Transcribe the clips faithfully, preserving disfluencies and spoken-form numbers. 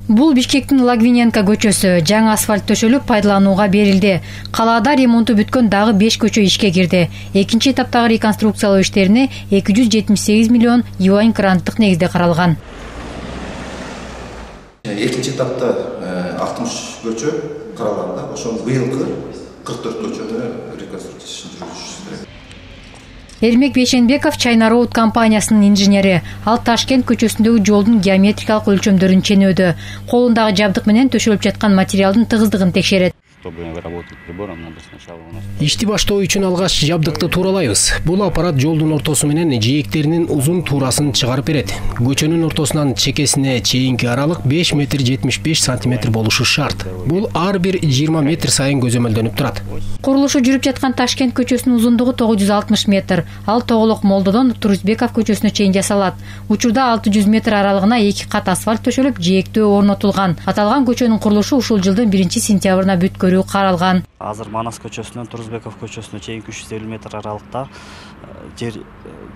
Бул Бишкектин Лагвиненко көчөсү. Жаңы асфальт төшөлүп пайдаланууга берилди. Калаада ремонту бүткөн дагы беш көчө ишке кирди. Экинчи эtaптагы реконструкциялоо иштерине эки жүз жетимиш сегиз миллион юань гранттык негизде каралган. Экинчи этапта алтымыш көчө каралганда, ошол быйылкы кырк төрт көчөнү реконструкциясын жүргүзүш. Эрмек Бейшенбеков China Road компаниясынын инженери. Ал Ташкент көчөсүндөгү жолдун геометрикалык өлчөмдөрүн ченөөдө. Колундагы жабдык менен төшөлүп жаткан материалдын тыгыздыгын текшерет. Ишти баштоо үчүн алгач жабдыкты тууралайбыз. Бул аппарат жолдун ортосу менен жээктеринин узун туурасын чыгарып берет. Көчөнүн ортосунан чекесине чейинки аралык беш метр жетимиш беш сантиметр болушу шарт. Бул ар бир жыйырма метр сайын көзөмөлдөнүп турат. Курулушу жүрүп жаткан Ташкент көчөсүнүн узундугу тогуз жүз алтымыш метр. Ал Тоголок Молдодон Турузбеков көчөсүнө чейин жасалат. Учурда алты жүз метр аралыгына эки кат асфальт төшөлүп, жээктөө орнотулган. Аталган көчөнүн курулушу ушул жылдын биринчи сентябрына бүткөрүү каралган. Азыр Манас көчөсүнөн Турузбеков көчөсүнө чейинки үч жүз элүү метр аралыкта жер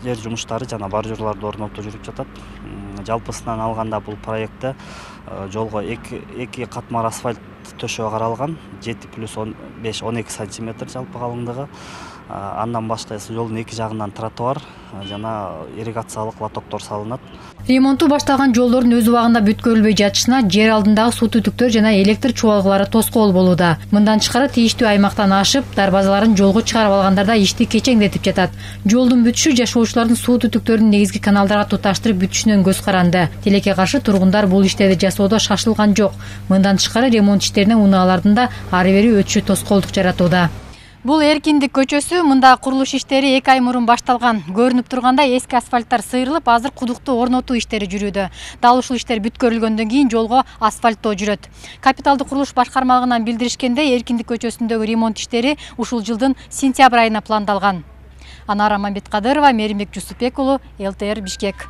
жер жумуштары жана бордюрларды орнотуу жүрүп жатат. Жалпысынан алганда бул проектте жолго эки катмар асфальт төшөө каралган. жети плюс он беш он эки сантиметр жалпы калыңдыгы. Андан башка жолдун эки жагынан тротуар жана ирригациялык лотоктор салынат. Ремонту башталган жолдордун өз убагында бүткөрүлбөй жатышына жер алдындагы суу түтүктөр жана электр чубалгылары тоскоол болууда. Мындан тышкары тийиштүү аймактан ашып, дарбазаларын жолго чыгарып алгандарда ишти кечеңдетип жатат. Жолдун бүтүшү жашоочулардын суу түтүктөрүн негизги каналдарга туташтырып бүтүшүнөн көз каранды. Тилекке каршы тургундар бул иштерди жасоодо шашылган жок. Мындан тышкары ремонт иштерине унаалардын да ары бери өтүшү тоскоолдук жаратууда. Бул Эркиндик көчөсү, мында курулуш иштери эки ай мурун башталган. Көрүнүп тургандай эски асфальттар сыйрылып, азыр кудукту орнотуу иштери жүрүүдө. Дал ушул иштер бүткөрүлгөндөн кийин жолго асфальттоо жүрөт. Капиталдык курулуш башкармалыгынан билдиришкендей, Эркиндик көчөсүндөгү ремонт иштери ушул жылдын сентябрь айына пландалган. Анара Мамбеткадырова, Меримбек Жусупбек уулу, эл тэ эр Бишкек.